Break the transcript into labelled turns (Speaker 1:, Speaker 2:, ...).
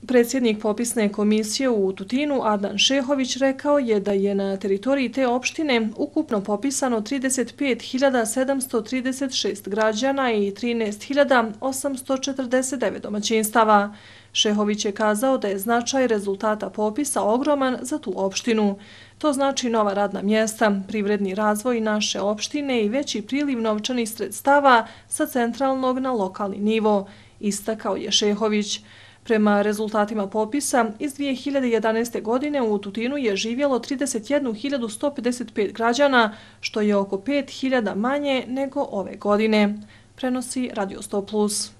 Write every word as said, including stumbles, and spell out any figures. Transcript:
Speaker 1: Predsjednik popisne komisije u Tutinu Adnan Šehović rekao je da je na teritoriji te opštine ukupno popisano trideset pet hiljada sedamsto trideset šest građana i trinaest hiljada osamsto četrdeset devet domaćinstava. Šehović je kazao da je značaj rezultata popisa ogroman za tu opštinu. To znači nova radna mjesta, privredni razvoj naše opštine i veći priliv novčanih sredstava sa centralnog na lokalni nivo, istakao je Šehović. Prema rezultatima popisa, iz dvije hiljade jedanaeste. godine u Tutinu je živjelo trideset jednu hiljadu sto pedeset pet građana, što je oko pet hiljada manje nego ove godine, prenosi Radio sto plus.